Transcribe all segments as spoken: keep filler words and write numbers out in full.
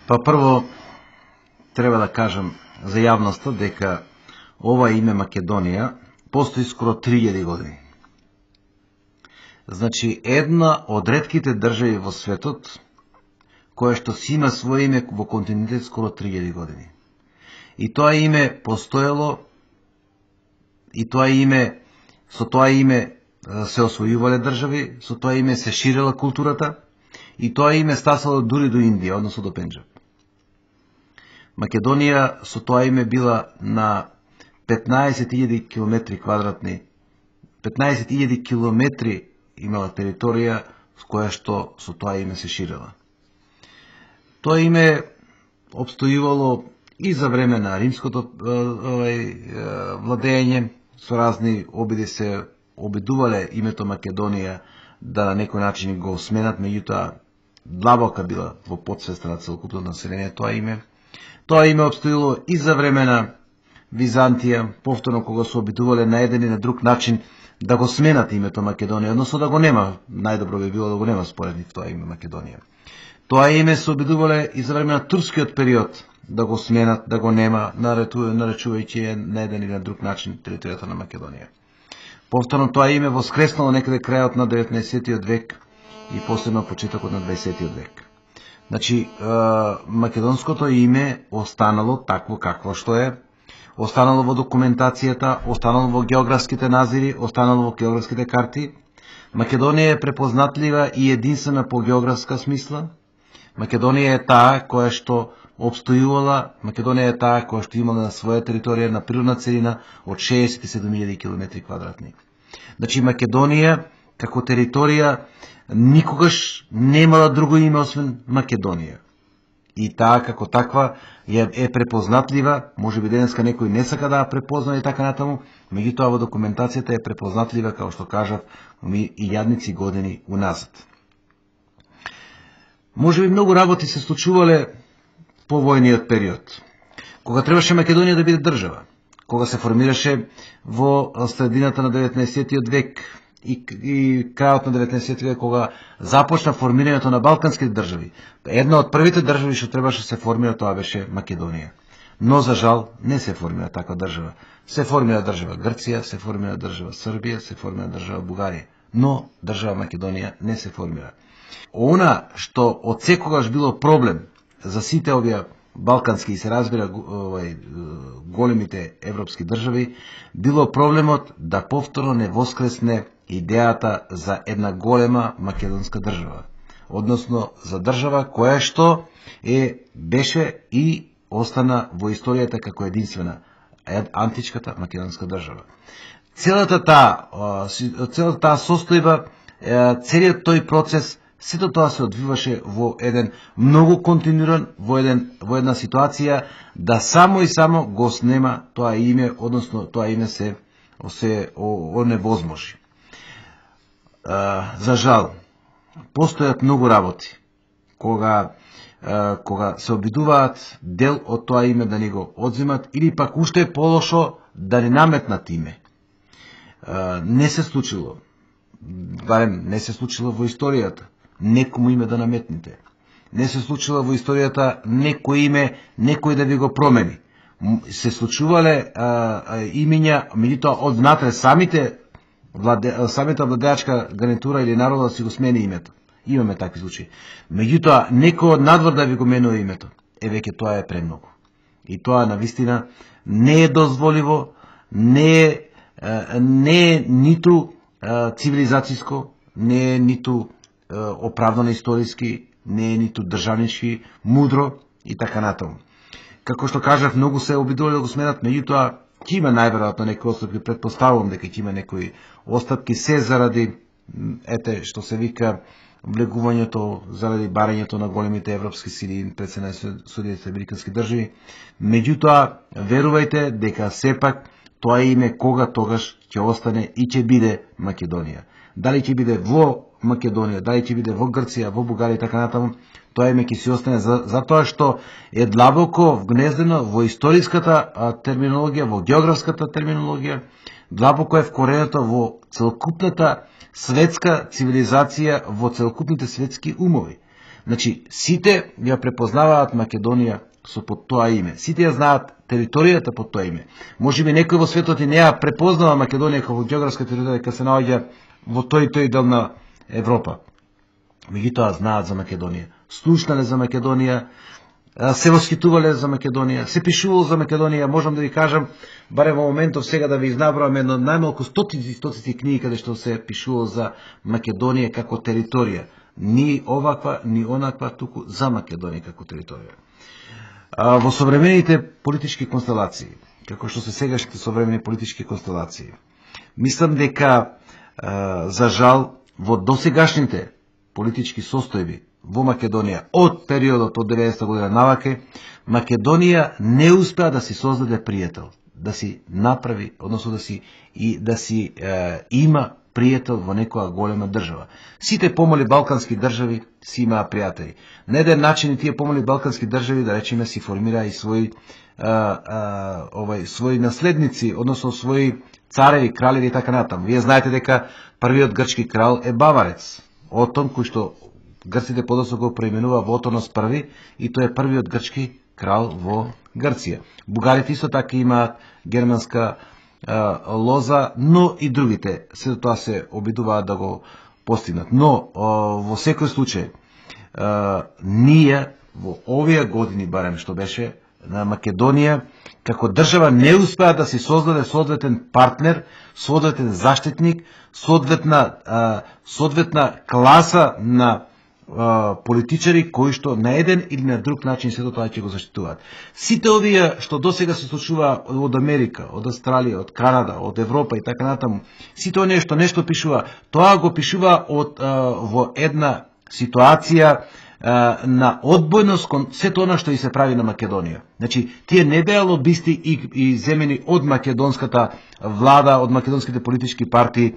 Па прво, треба да кажам за јавноста дека ова име Македонија постои скоро три илјади години. Значи, една од ретките држави во светот која што си има своје име во континентот скоро три илјади години. И тоа име постоело, и тоа име, со тоа име се освојувале држави, со тоа име се ширела културата, и тоа име стасало дури до Индија, односно до Пенџаб. Македонија со тоа име била на петнаесет илјади километри квадратни, петнаесет илјади километри имала територија с која што со тоа име се ширела. Тоа име обстојувало и за време на римското овај, владење, со разни обиди се обидувале името Македонија да на некој начин го сменат, меѓутоа длабока била во подсвеста на целокупното население тоа име. Тоа име обстоило и за време на Византија, повторно кога се обидувале на еден и на друг начин да го сменат името Македонија, односно да го нема, најдобро би било да го нема според нив тоа име Македонија. Тоа име се обидувале и за време на турскиот период да го сменат, да го нема, наречувајќи на еден или на друг начин територијата на Македонија. Повторно тоа име воскреснало некаде крајот на деветнаесеттиот век и последно почетокот на дваесеттиот век. Значи, македонското име останало такво какво што е, останало во документацијата, останало во географските назири, останало во географските карти. Македонија е препознатлива и единствена по географска смисла. Македонија е таа која што обстојувала, Македонија е таа која што имала на своја територија на природна целина од шеесет и седум илјади километри квадратни. Значи, Македонија како територија никогаш немала друго име освен Македонија. И таа како таква е препознатлива, може би денеска некој не сака да ја препозна и така натаму, меѓутоа во документацијата е препознатлива, како што кажав, и јадници години уназад. Може би многу работи се случувале по војниот период, кога требаше Македонија да биде држава, кога се формираше во средината на деветнаесеттиот век и, и крајот на деветнаесеттиот век, кога започна формирањето на балканските држави. Една од првите држави што требаше се формира, тоа беше Македонија. Но, за жал, не се формира таква држава. Се формира држава Грција, се формира држава Србија, се формира држава Бугарија. Но, држава Македонија не се формира. Она што од секогаш било проблем за сите овие балкански и се разбира овај, големите европски држави, било проблемот да повторно не воскресне идејата за една голема македонска држава. Односно, за држава која што е, беше и остана во историјата како единствена античката македонска држава. Целата таа, целата таа состојба, целиот тој процес, сето тоа се одвиваше во еден многу континуиран, во, еден, во една ситуација да само и само го снема тоа име, односно тоа име се, се оневозможи. За жал, постојат многу работи кога, кога се обидуваат дел од тоа име да ни го одземат или пак уште полошо да ни наметнат име. Не се случило, барем не се случило во историјата некому име да наметните. Не се случило во историјата некој име, некој да ви го промени. Се случувале имиња, меѓутоа од внатре самите владе, самата владеачка гарнитура или народот си го смени името. Имаме такви случаи. Меѓутоа некој од надвор да ви го менува името, е веќе тоа е премногу. И тоа навистина не е дозволиво, не е, не е ниту цивилизацијско, не е ниту оправдано историски, не е ниту државнички, мудро и така натаму. Како што кажав, многу се обидувале да го сменат, меѓутоа ќе има најверојатно некои отстапки, претпоставувам дека ќе има некои отстапки, се заради, ете, што се вика, влегувањето, заради барањето на големите европски сили пред се на Соединетите американски држави. Меѓутоа, верувајте дека сепак тоа име кога тогаш ќе остане и ќе биде Македонија. Дали ќе биде во Македонија, дали ќе биде во Грција, во Бугарија и така натаму, тоа име ќе си остане за, затоа што е длабоко вгнездено во историската терминологија, во географската терминологија, длабоко е вкоренето во целокупната светска цивилизација, во целокупните светски умови. Значи, сите ја препознаваат Македонија со под тоа име. Сите ја знаат територијата под тоа име. Може би некој во светот и не ја препознава Македонија како географска територија, дека се наоѓа во тој тој дел на Европа. Меѓутоа знаат за Македонија. Слушнале за Македонија, се восхитувале за Македонија, се пишувало за Македонија. Можам да ви кажам, барем во моментов сега да ви изнаброам едно најмалку стотици стотици книги каде што се пишувало за Македонија како територија. Ни оваква, ни онаква, туку за Македонија како територија. А, во современите политички констелации, како што се сегашните современи политички констелации, мислам дека, а, за жал, во досегашните политички состојби во Македонија од периодот од деветдесета година наваке, Македонија не успеа да си создаде пријател, да си направи, односно да си и да си е, има пријател во некоја голема држава. Сите помали балкански држави си имаа пријатели. На еден начин и тие помали балкански држави, да речеме, си формираа и своји а, а, овај своји наследници, односно своји цареви, кралеви и така натаму. Вие знаете дека првиот грчки крал е Баварец, Отон, кој што грците подоцна го преименува во Отонос први, и тој е првиот грчки крал во Грција. Бугарите исто така имаат германска а, лоза, но и другите се тоа се обидуваат да го постигнат. Но а, во секој случај а, ние во овие години барем што беше на Македонија како држава не успеа да си создаде соодветен партнер, соодветен заштитник, соодветна а, соодветна класа на политичари кои што на еден или на друг начин сето тоа ќе го заштитуваат. Сите овие што досега се случува од Америка, од Австралија, од Канада, од Европа и така натаму, сите оние што нешто пишува, тоа го пишува од а, во една ситуација а, на одбојност кон сето она што и се прави на Македонија. Значи, тие не беа лобисти и, и земени од македонската влада, од македонските политички партии.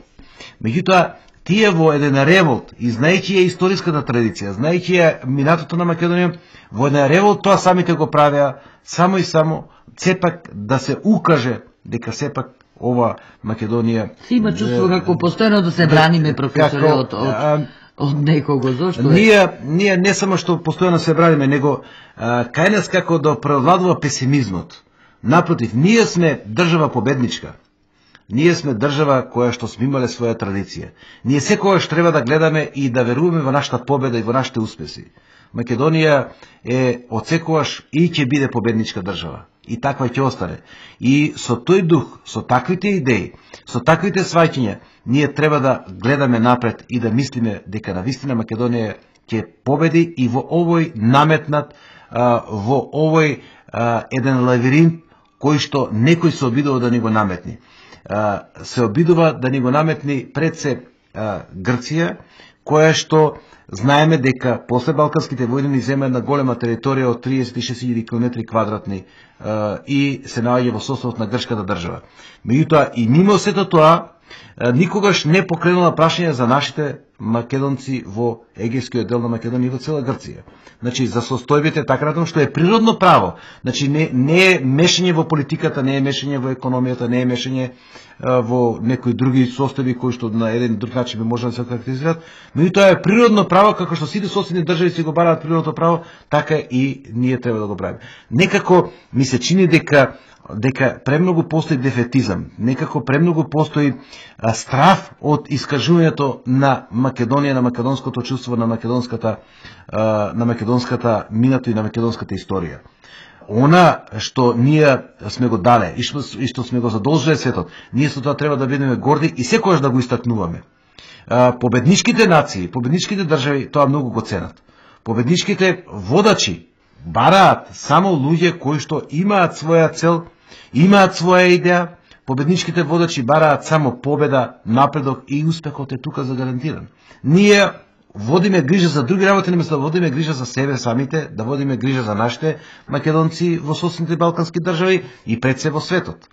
Меѓутоа, тие во еден револт, и знаејќи ја историската традиција, знаејќи ја минатото на Македонија, во еден револт тоа самите го правеа, само и само, сепак да се укаже дека сепак ова Македонија... Си има чувство како постојано да се браниме, професоре, од, од, од некого, зошто е? Ние, ние не само што постојано се браниме, него а, кај нас како да превладува песимизмот. Напротив, ние сме држава победничка. Ние сме држава која што сме имале своја традиција. Ние секогаш треба да гледаме и да веруваме во нашата победа и во нашите успеси. Македонија е од секогаш и ќе биде победничка држава. И таква ќе остане. И со тој дух, со таквите идеи, со таквите сваќања, ние треба да гледаме напред и да мислиме дека навистина Македонија ќе победи и во овој наметнат, во овој еден лавиринт кој што некој се обидува да ни го наметни. Се обидува да ни го наметни пред се Грција, која што знаеме дека после Балканските војни ни зема една голема територија од триесет и шест илјади километри квадратни и се наоѓа во составот на грчката држава. Меѓутоа и мимо сето тоа, никогаш не покренала прашање за нашите македонци во егејскиот дел на Македонија и во цела Грција. Значи, за состојбите така натаму, што е природно право. Значи, не, не е мешање во политиката, не е мешање во економијата, не е мешање а, во некои други состојби кои што на еден друг начин би може да се карактеризираат. Меѓутоа е природно право, како што сите соседни држави си го бараат природното право, така и ние треба да го правиме. Некако ми се чини дека дека премногу постои дефетизам, некако премногу постои а, страф од искажувањето на Македонија, на македонското чувство, на македонската а, на македонската минато и на македонската историја. Она што ние сме го дале и што, и што сме го задолжиле светот, ние со тоа треба да бидеме горди и секогаш да го истакнуваме. А, победничките нации, победничките држави тоа многу го ценат. Победничките водачи бараат само луѓе кои што имаат своја цел, имаат своја идеја. Победничките водачи бараат само победа, напредок и успехот е тука загарантиран. Ние водиме грижа за други работи, наместо да водиме грижа за себе самите, да водиме грижа за нашите македонци во соседните балкански држави и пред се во светот.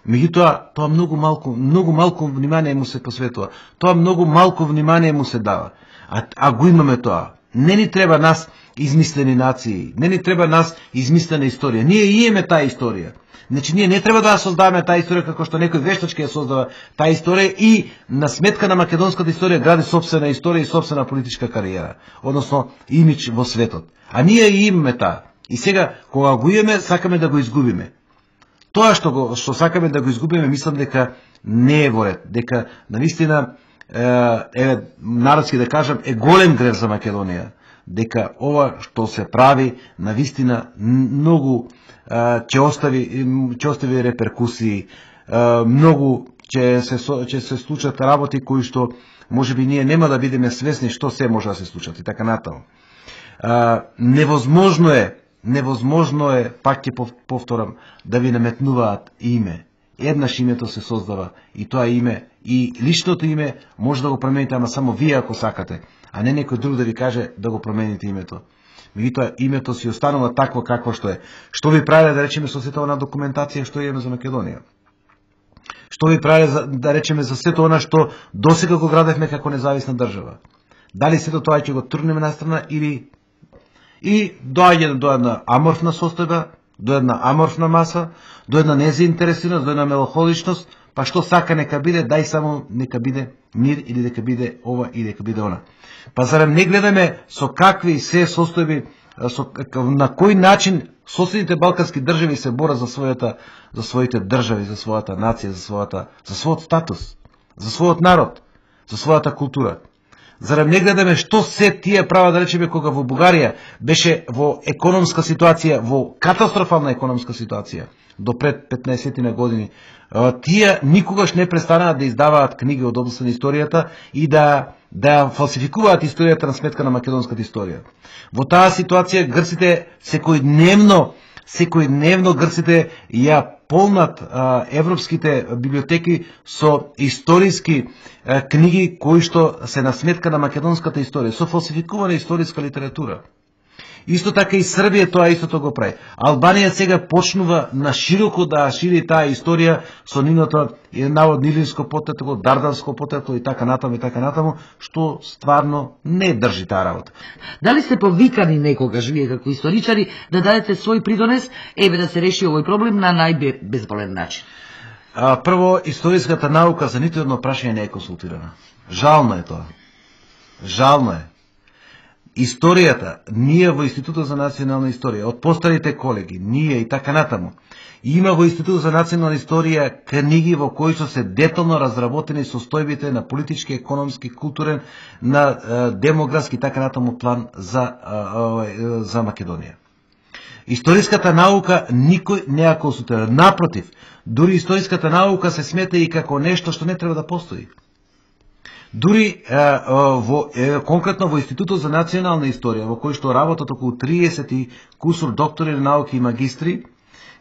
Меѓутоа, тоа многу малку, многу малку внимание му се посветува. Тоа многу малку внимание му се дава. А, а го имаме тоа. Не ни треба нас измислени нации, не ни треба нас измислена историја. Ние имаме таа историја. Значи, ние не треба да ја создаваме таа историја како што некој вештачки ја создава таа историја и на сметка на македонската историја гради собствена историја и собствена политичка кариера, односно имидж во светот. А ние имаме таа. И сега, кога го имаме, сакаме да го изгубиме. Тоа што го што сакаме да го изгубиме, мислам дека не е во ред, дека навистина е, народски да кажам, е голем грев за Македонија, дека ова што се прави навистина многу ќе остави ќе остави реперкусии, многу ќе се ќе се случат работи кои што можеби ние нема да бидеме свесни што се може да се случат и така натаму. Невозможно е, невозможно е, пак ќе повторам, да ви наметнуваат име. Еднаш името се создава и тоа име, и личното име може да го промените, ама само вие ако сакате, а не некој друг да ви каже да го промените името. Меѓутоа името си останува такво какво што е. Што ви прави да речеме со сета она документација што имаме за Македонија? Што ви прави да речеме за сето она што досега го градевме како независна држава? Дали сето тоа ќе го турнеме на страна или и доаѓа до една аморфна состојба, до една аморфна маса, до една незаинтересираност, до една меланхоличност, па што сака нека биде, дај само нека биде мир или нека биде ова или нека биде она. Па зарем не гледаме со какви се состојби, со, на кој начин соседните балкански држави се борат за својата, за своите држави, за својата нација, за својата, за својот статус, за својот народ, за својата култура. Зарем не гледаме што се тие права да речеме кога во Бугарија беше во економска ситуација, во катастрофална економска ситуација до пред петнаесет на години. Тие никогаш не престанаа да издаваат книги од областта на историјата и да да фалсификуваат историјата на сметка на македонската историја. Во таа ситуација грците секојдневно, секојдневно грците ја полнат а, европските библиотеки со историски а, книги кои што се на сметка на македонската историја, со фалсификувана историска литература. Исто така и Србија тоа истото го прави. Албанија сега почнува на широко да шири таа историја со нивното наводно Илирско потекло, Дарданско потекло и така натаму и така натаму, што стварно не држи таа работа. Дали сте повикани некогаш вие како историчари да дадете свој придонес, еве да се реши овој проблем на најбезболен начин? А, прво, историската наука за ниту едно прашање не е консултирана. Жално е тоа. Жално е. Историјата, ние во Институтот за национална историја, од постарите колеги, ние и така натаму, има во Институтот за национална историја книги во кои што се детално разработени состојбите на политички, економски, културен, на е, демографски и така натаму план за, е, за Македонија. Историската наука никој не ја консултира. Напротив, дури историската наука се смета и како нешто што не треба да постои. Дури е, во, е, конкретно во Институтот за национална историја, во кој што работат околу триесет кусур доктори на науки и магистри,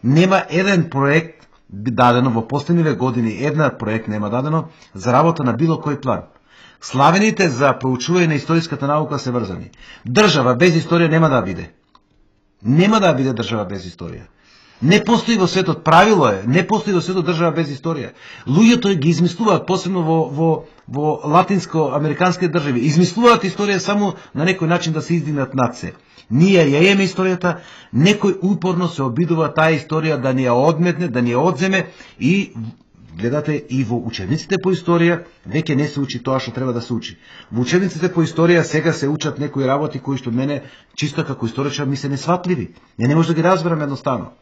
нема еден проект дадено во последниве години, една проект нема дадено за работа на било кој план. Славените за проучување на историската наука се врзани. Држава без историја нема да биде. Нема да биде држава без историја. Не постои во светот, правило е, не постои во светот држава без историја. Луѓето ги измислуваат, посебно во, во, во латинско-американски држави, измислуваат историја само на некој начин да се издигнат над се. Ние ја имаме историјата, некој упорно се обидува таа историја да ни ја одметне, да ни ја одземе и гледате и во учебниците по историја веќе не се учи тоа што треба да се учи. Во учебниците по историја сега се учат некои работи кои што мене чисто како историчар ми се несватливи. Не не може да ги разберам едноставно.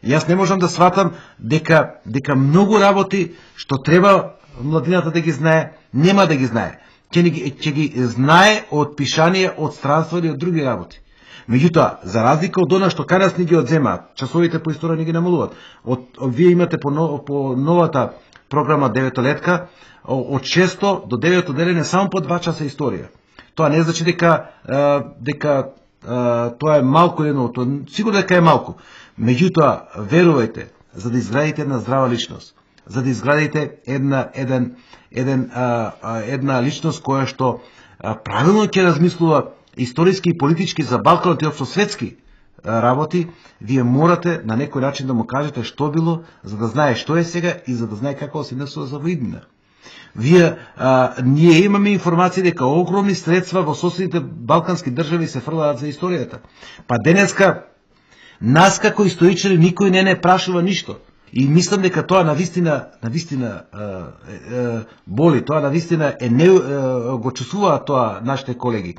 Јас не можам да сватам дека дека многу работи што треба младината да ги знае, нема да ги знае. Ќе ги, ќе ги знае од пишање, од странство или од други работи. Меѓутоа, за разлика од она што кај нас ни ги одземаат, часовите по историја ни ги намалуваат. Од, од вие имате по, по новата програма деветолетка, од шесто до девето делење само по два часа историја. Тоа не значи дека дека тоа е малку едно, тоа сигурно дека е малку. Меѓутоа, верувајте, за да изградите една здрава личност, за да изградите една еден еден а, а, една личност која што а, правилно ќе размислува историски и политички за Балканот и општо светски работи, вие морате на некој начин да му кажете што било, за да знае што е сега и за да знае како се несува за во иднина. Вие, а, ние имаме информација дека огромни средства во соседните балкански држави се фрлаат за историјата. Па денеска, нас како историчари никој не не прашува ништо. И мислам дека тоа навистина, навистина е, е, боли, тоа навистина е не е, го чувствуваат тоа нашите колеги.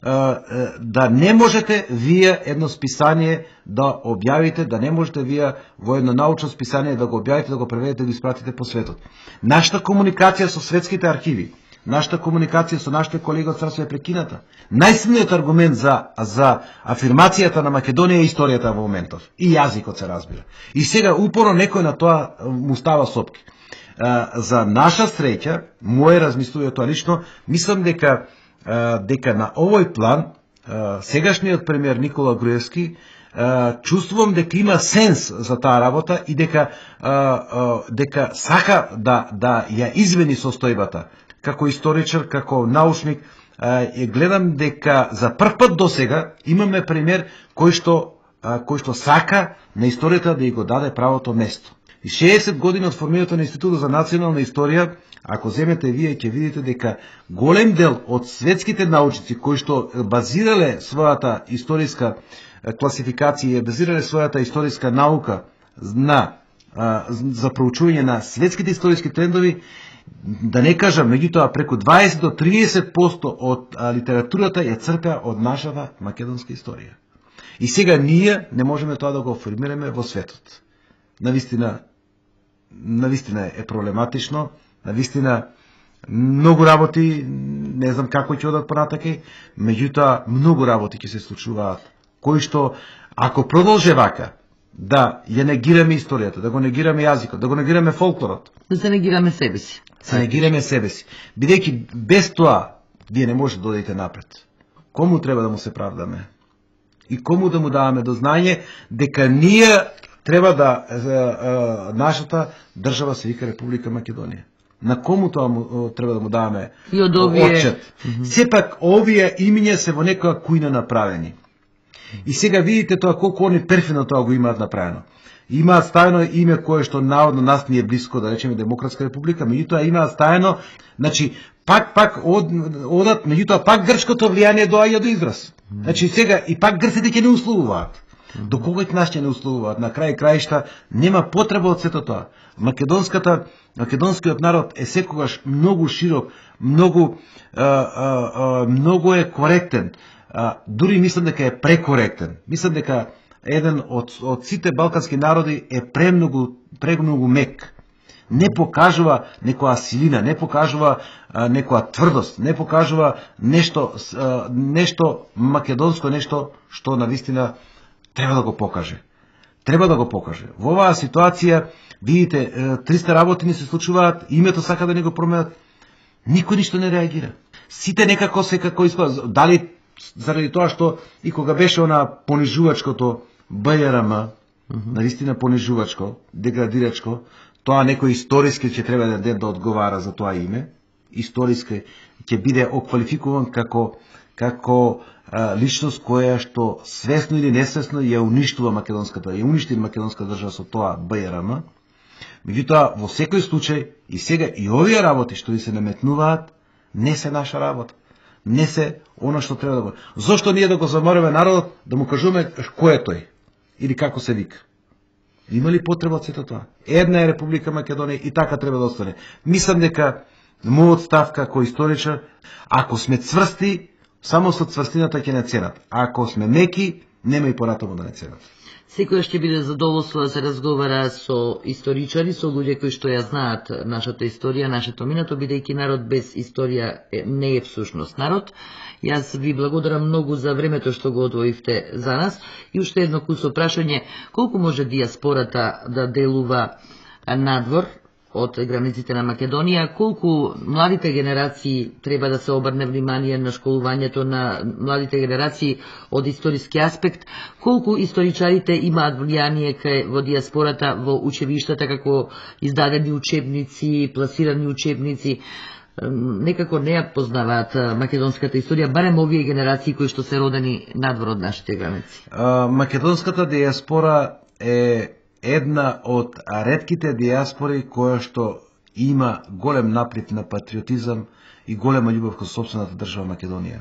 Е, е, да не можете вие едно списание да објавите, да не можете вие во едно научно списание да го објавите, да го преведете, да го испратите по светот. Нашата комуникација со светските архиви, нашата комуникација со нашите колеги од царство е прекината. Најсилниот аргумент за, за афирмацијата на Македонија е историјата во моментов. И јазикот се разбира. И сега упорно некој на тоа му става сопки. За наша среќа, моје размислување тоа лично, мислам дека дека на овој план сегашниот премиер Никола Груевски чувствувам дека има сенс за таа работа и дека дека сака да да ја извини состојбата. Како историчар, како научник, гледам дека за прв пат до сега имаме пример кој што кој што сака на историјата да ја го даде правото место. И шеесет години од формирањето на Институтот за национална историја, ако земете вие, ќе видите дека голем дел од светските научници кои што базирале својата историска класификација, базирале својата историска наука на за проучување на светските историски трендови, да не кажам, меѓутоа преку дваесет до триесет проценти од литературата ја црпеа од нашата македонска историја. И сега ние не можеме тоа да го формираме во светот. Навистина, навистина е проблематично, навистина многу работи, не знам како ќе одат понатаке, меѓутоа многу работи ќе се случуваат, кои што ако продолже вака, да ја негираме историјата, да го негираме јазикот, да го негираме фолклорот, да се негираме себе си. Да негираме себе си. Бидејќи без тоа вие не можете да одите напред. Кому треба да му се правдаме? И кому да му даваме до знање дека ние треба да е, е, нашата држава се вика Република Македонија. На кому тоа му, треба да му даваме отчет? Mm -hmm. Сепак овие имиња се во некоја кујна направени. И сега видите тоа колку они перфидно тоа го имаат направено. Имаат ставено име кое што наодно нас ни е блиско, да речеме Демократска република, меѓутоа имаат ставено, значи пак пак од, одат, меѓутоа пак грчкото влијание доаѓа до израз. Значи сега и пак грците ќе не условуваат. До кога ќе нас ќе не условуваат? На крај краишта нема потреба од сето тоа. Македонската македонскиот народ е секогаш многу широк, многу а, а, а, многу е коректен. А, дури мислам дека е прекоректен. Мислам дека еден од, од сите балкански народи е премногу, премногу мек. Не покажува некоја силина, не покажува а, некоја тврдост, не покажува нешто, а, нешто македонско, нешто што навистина треба да го покаже. Треба да го покаже. Во оваа ситуација, видите, триста работи не се случуваат, името сака да не го променат, никој ништо не реагира. Сите некако се како испад, дали заради тоа што и кога беше она понижувачкото Б Ј Р М, mm -hmm. наистина понижувачко, деградирачко, тоа некој историски ќе треба да да одговара за тоа име, историски ќе биде оквалификуван како како а, личност која што свесно или несвесно ја уништува македонската, ја уништи македонска држава со тоа Б Ј Р М. Меѓутоа во секој случај и сега и овие работи што ви се наметнуваат не се наша работа. Не се она што треба да го. Зошто ние да го замориме народот, да му кажуваме кој е тој или како се вика? Има ли потреба од сето тоа? Една е Република Македонија и така треба да остане. Мислам дека мојот став како историчар, ако сме цврсти, само со цврстината ќе не ценат. А ако сме меки, нема и поратомо да не ценат. Секојаш ќе биде задоволство да се разговара со историчари, со луѓе кои што ја знаат нашата историја, нашето минато, бидејќи народ без историја не е всушност народ. Јас ви благодарам многу за времето што го одвоивте за нас и уште едно кусо прашање, колку може дијаспората да делува надвор од границите на Македонија, колку младите генерации треба да се обрне внимание на школувањето на младите генерации од историски аспект, колку историчарите имаат влијание кај во дијаспората, во училиштата, како издадени учебници, пласирани учебници, некако не ја познаваат македонската историја, барем овие генерации кои што се родени надвор од нашите граници. Македонската дијаспора е една од ретките дијаспори која што и има голем наплив на патриотизам и голема љубов кон сопствената држава Македонија.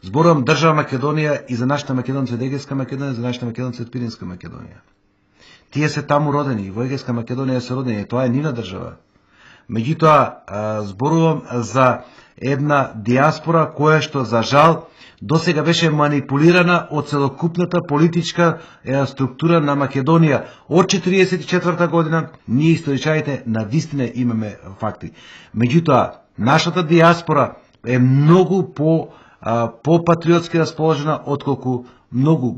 Зборувам држава Македонија и за нашата македонци од Егејска Македонија, за нашите македонци од Пиринска Македонија. Тие се таму родени, во Егејска Македонија се родени, тоа е нивна држава. Меѓутоа, зборувам за една диаспора која што за жал досега беше манипулирана од целокупната политичка структура на Македонија. Од четириесет и четврта година ние историчарите навистина имаме факти. Меѓутоа, нашата диаспора е многу по по патриотски расположена отколку многу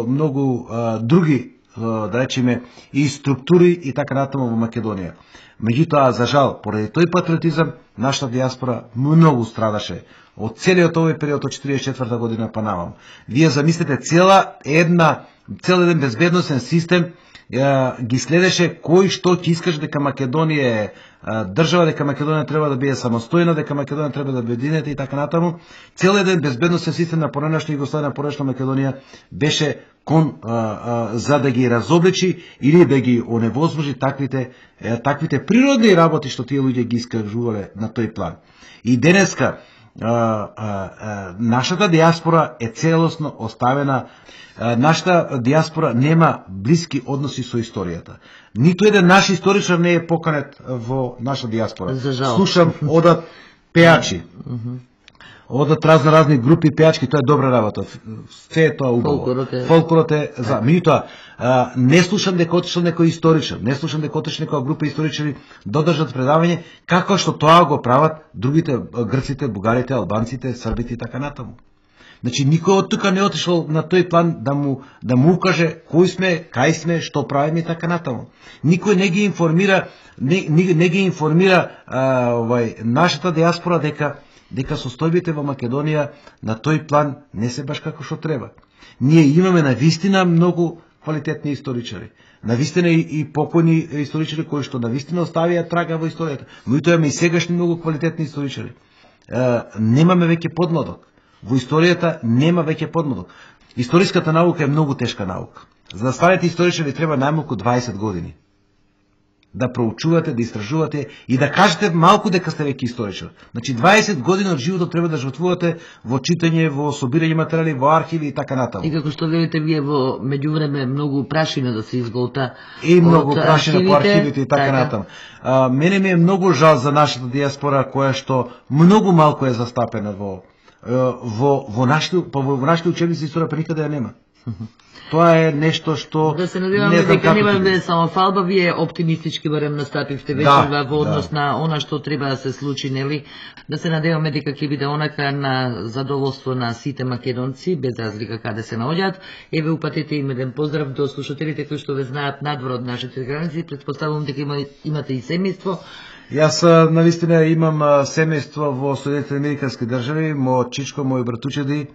многу други, да речеме, и структури и така натаму во Македонија. Меѓутоа, за жал, поради тој патриотизам, нашата диаспора многу страдаше од целиот овој период од четириесет и четврта година па навам. Вие замислете, цела една, цел еден безбедносен систем е, ги следеше кој што ќе искаше дека Македонија е држава, дека Македонија треба да биде самостојна, дека Македонија треба да биде и така натаму. Цел еден безбедносен систем на поранешна Југославија, на поранешна Македонија беше кон а, а, за да ги разобличи или да ги оневозможи таквите е, таквите природни работи што тие луѓе ги искажувале на тој план. И денеска а, а, а, нашата диаспора е целосно оставена. А, нашата диаспора нема блиски односи со историјата. Ниту еден наш историчар не е поканет во наша диаспора. Слушам, одат пеачи. Одат разно разни групи пеачки, тоа е добра работа. Се е тоа убаво. Фолклорот е, Фолклорот е за. Меѓутоа, не слушам дека отишол некој историчар, не слушам дека отишол некоја група историчари да одржат предавање како што тоа го прават другите грците, бугарите, албанците, србите и така натаму. Значи никој од тука не отишол на тој план да му да му укаже кој сме, кај сме, што правиме и така натаму. Никој не ги информира, не, не, не ги информира а, овај нашата диаспора дека дека состојбите во Македонија на тој план не се баш како што треба. Ние имаме навистина многу квалитетни историчари. Навистина и, и покојни историчари кои што навистина оставија трага во историјата. Меѓутоа имаме и сегашни многу квалитетни историчари. Е, немаме веќе подмладок. Во историјата нема веќе подмладок. Историската наука е многу тешка наука. За да станете историчари треба најмалку дваесет години. Да проучувате, да истражувате и да кажете малку дека сте веќе историчар. Значи дваесет години од животот треба да жртвувате во читање, во собирање материјали, во архиви и така натаму. И како што велите вие во меѓувреме многу прашина да се изголта. И многу прашина по архивите и така, така. натаму. А, мене ми е многу жал за нашата диаспора која што многу малку е застапена во во во нашите во нашите учебници историја, па никаде ја нема. Тоа е нешто што да се надеваме дека нема да е само фалба, вие оптимистички барем настапивте вечер да, во однос да. на она што треба да се случи, нели? Да се надеваме дека ќе биде онака на задоволство на сите македонци, без разлика каде се наоѓаат. Еве упатете им еден поздрав до слушателите кои што ве знаат надвор од нашите граници. Претпоставувам дека има, имате и семејство. Јас навистина имам семејство во Соединетите американски држави, мој чичко, мој братучеди.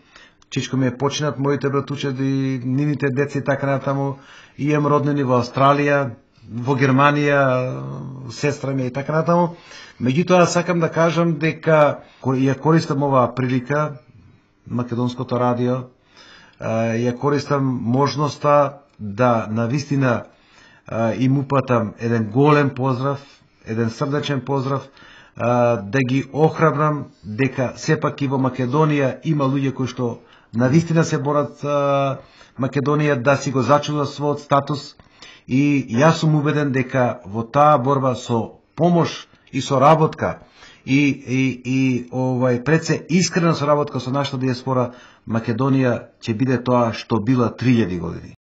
Чичко ми е починат, моите братучеди, нивните деца и така натаму. И имам роднини во Австралија, во Германија, сестра ми и така натаму. Меѓутоа сакам да кажам дека ја користам оваа прилика, Македонското радио, ја користам можноста да навистина им упатам еден голем поздрав, еден срдечен поздрав, да ги охрабрам дека сепак и во Македонија има луѓе кои што навистина се борат Македонија да си го зачува својот статус, и јас сум убеден дека во таа борба со помош и со работка и и и овај пред се искрена соработка со нашата диаспора, Македонија ќе биде тоа што била три илјади години.